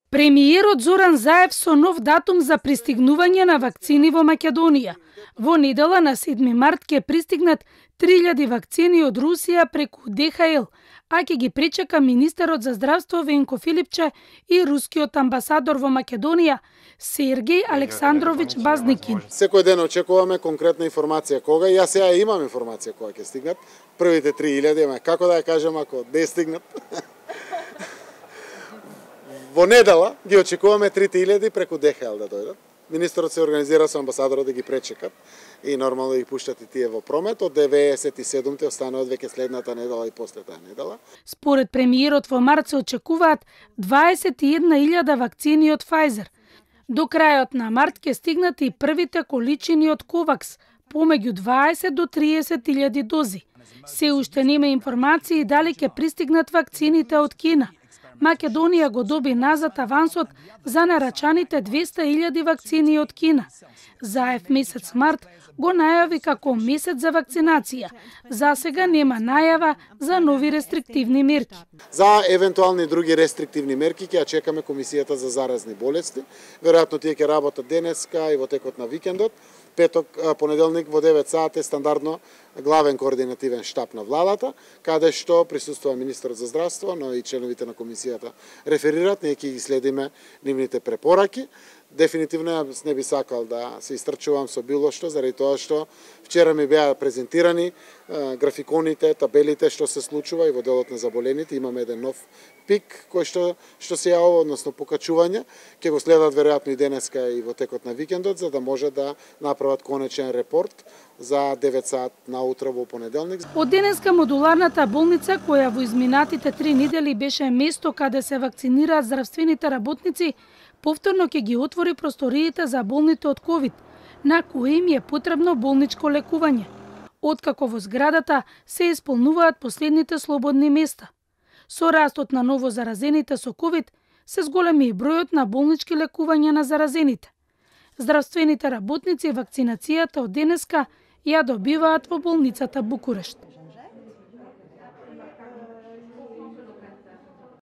Премиерот Зоран Заев со нов датум за пристигнување на вакцини во Македонија. Во недела на 7 март ќе пристигнат 3000 вакцини од Русија преку ДХЛ, а ќе ги пречека министерот за здравство Венко Филипче и рускиот амбасадор во Македонија Сергеј Александрович Базникин. Секој ден очекуваме конкретна информација кога, јас сега имам информација кога ќе стигнат. Првите 3000, како да ја кажем ако не стигнат. Во недела ги очекуваме 3000 преку ДХЛ да дојдат. Министерот се организира со амбасадорот да ги пречекат и нормално да ги пуштат и тие во промет. Од 97-те остануваат веќе следната недела и после таа недела. Според премиерот во март се очекуваат 21.000 вакцини од Pfizer. До крајот на март ќе стигнат и првите количини од Ковакс, помеѓу 20 до 30.000 дози. Се уште нема информации дали ќе пристигнат вакцините од Кина. Македонија го доби назад авансот за нарачаните 200.000 вакцини од Кина. Заев месец март го најави како месец за вакцинација. За сега нема најава за нови рестриктивни мерки. За евентуални други рестриктивни мерки ќе ја чекаме Комисијата за заразни болести. Веројатно тие ќе работат денеска и во текот на викендот. Петок, понеделник во 9 сати стандардно главен координативен штаб на владата, каде што присуствува министерот за здравство, но и членовите на комисијата реферират, ние ќе ги следиме нивните препораки. Дефинитивно не би сакал да се истрчувам со било што, заради тоа што вчера ми беа презентирани графиконите, табелите што се случува и во делот на заболените. Имаме еден нов пик кој што се јавува, односно покачување. Ќе го следат веројатно и денеска и во текот на викендот, за да може да направат конечен репорт за 9 сат наутро во понеделник. Од денеска модуларната болница, која во изминатите 3 недели беше место каде се вакцинираат здравствените работници, повторно ќе ги отвори просториите за болните од ковид, на кои им е потребно болничко лекување, откако во зградата се исполнуваат последните слободни места. Со растот на ново заразените со ковид се зголеми и бројот на болнички лекувања на заразените. Здравствените работници вакцинацијата од денеска ја добиваат во болницата Букурешт.